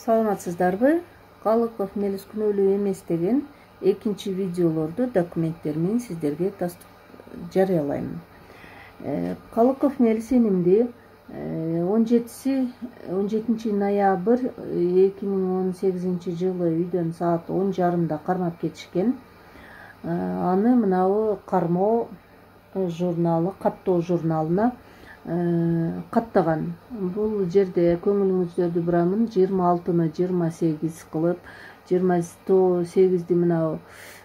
Саламатсыздарбы? Калыков Мелис күнөөлүү эмес деген экинчи видеолорду документтер менен сиздерге жарыялайм. Калыков Мелис энимди 17 ноябрь 2018 жылы үйдөн саат 10:30 кармап кетишкен. Аны мынабу кармоо журналы, каттоо журналына каттаган. Бул жерде көңүлүңүздөрдү бурамын, 26-ны 28 кылып, 28-ди мына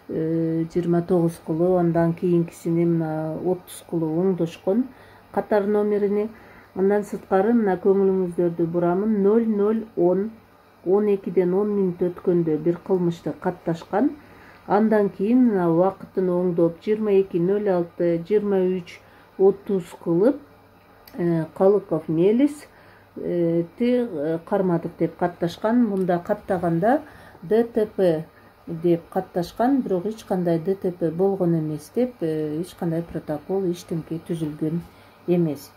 29 кылып, андан кийинкисини мына 30 кылып оңдошкон катар номерини. Андан сырткары мына көңүлүңүздөрдү бурамын, 00:10 12ден 10 мүнөт өткөндө бир кылмышты катташкан. Андан кийин мына убакытын оңдоп 22:06 23:30 кылып Калыков Мелис кармадык деп катташкан. Мында каттаганда ДТП деп катташкан, бирок эч кандай ДТП болгон эмес деп, эч кандай протокол, эчтемке түзүлгөн эмес.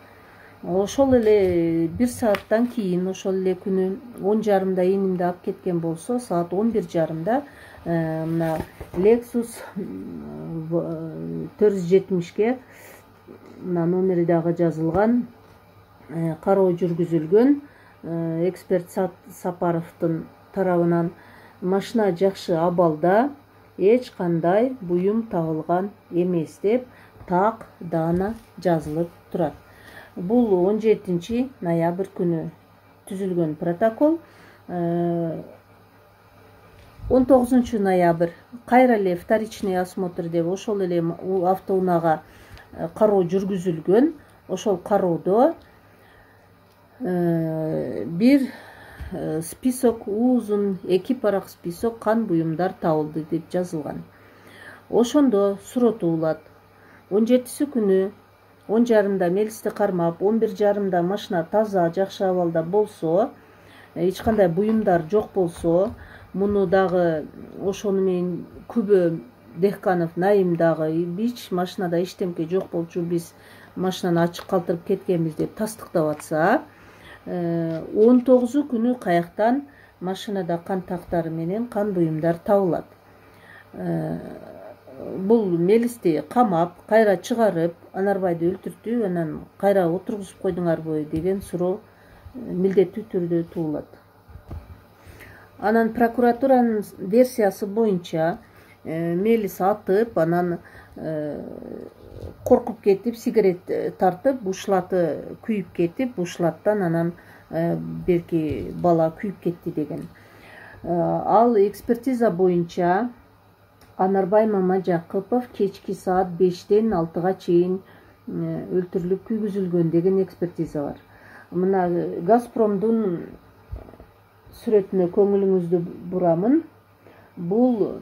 Ошол эле бир сааттан кийин, ошол эле күнү 10:30 энимди алып кеткен болсо, саат 11:30 мына Lexus 470ге мына номери дагы жазылган, кароо жүргүзүлгөн. Эксперт Сапаровдун тарабынан машина жакшы абалда, эч кандай буюм табылган эмес деп так даана жазылып турат. Бул 17 ноябрь күнү түзүлгөн протокол. 19 ноябрь кайра эле вторичный осмотр деп ошол эле автоунаага кароо жүргүзүлгөн. Ошол кароодо бир список, узун 2 парак список кан буюмдар табылды деп жазылган. Ошондо суротуулат. 17 күнү 10:30 Мелисти кармап, 11:30 машина таза, жакшы абалда болсо, эч кандай буюмдар жок болсо, муну дагы ошону менен Күбө Дехканов Наим дагы бич машинада эчтемке жок болчу, биз машинаны ачык калтырып кеткенбиз деп тастыктап атса, 19 күнү каяктан машинада кан тактары менен кан буюмдар табылат. Бул Мелисти камап, кайра чыгарып, Анарбайды өлтүртүп, анан кайра отургузуп койдуңарбы деген суроо милдеттүү түрдө туулат. Анан прокуратуранын версиясы боюнча Мелис атып, анан коркуп кетип, сигарет тартып, бушлаты күйүп кетип, бушлаттан анан берки бала күйүп кетти деген. Ал экспертиза боюнча Анарбай Мамажакыпов кечки саат 5-тен 6-га чейин өлтүрүлүп күйгүзүлгөн деген экспертиза бар. Мына Газпромдун сүрөтүнө көңүлүңүздү бурамын. Бул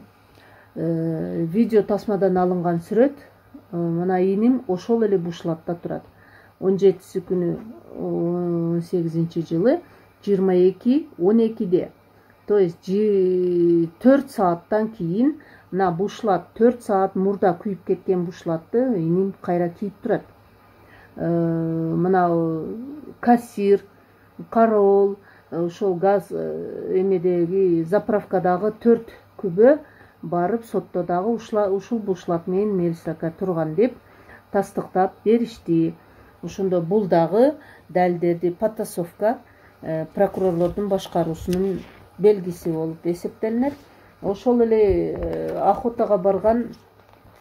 видео тасмадан алынган сүрөт. Мына иним ошол эле бушлатта турат. 17 күнү 18 жылы 22:12. То есть 4 сааттан кийин мына бушлат 4 саат мурда күйүп кеткен бушлатты иним кайра кийип турат. Мына кассир, кароол, ошол газ эмедеги заправкадагы 4 күбө барып сотто дагы ушул бушлат менен Мелис ака турган деп тастыктап беришти. Ошондо бул дагы далилдерди потасовка прокурорлордун башкаруусунун белгиси болуп эсептелинет. Ошол эле охотага барган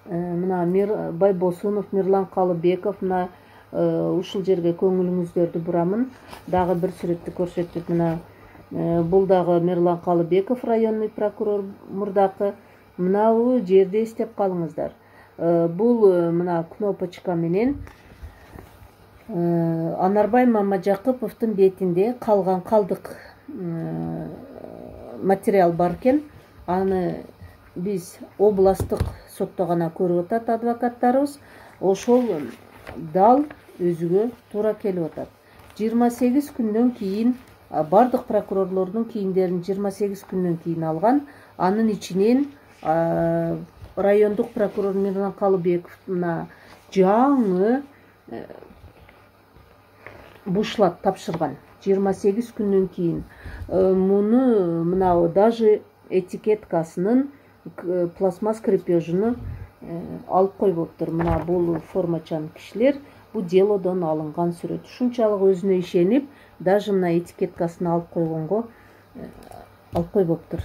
мына Байбосунов, Мирлан Калыбеков, мына ушул жерге көңүлүңүздөрдү бурамын. Дагы бир сүрөттү көрсөтүп, мына бул дагы Мирлан Калыбеков, районный прокурор мурдакы. Мына бул жерди эстеп калыңыздар. Бул мына кнопочка менен Анарбай Мамажакыповдун бетинде калган калдык материал бар экен. Аны биз областтык сотто гана көрүп атат адвокаттарыбыз. Ошол дал өзүгө туура келип атат. 28 күндөн кийин бардык прокурорлордун кийимдерин 28 күндөн кийин алган. Анын ичинен райондук прокурор Мирлан Калыбеков мына жаңы бушлат тапшырган. 28 күндөн кийин муну мына даже этикеткасынын пластмасс крепежini алып койбоптур. Мына бул формачан кишилер бул делодон алынган сүрөт. Ушунчалык өзүнө ишенип, даже мына этикеткасын алып койгонго алып койбоптур.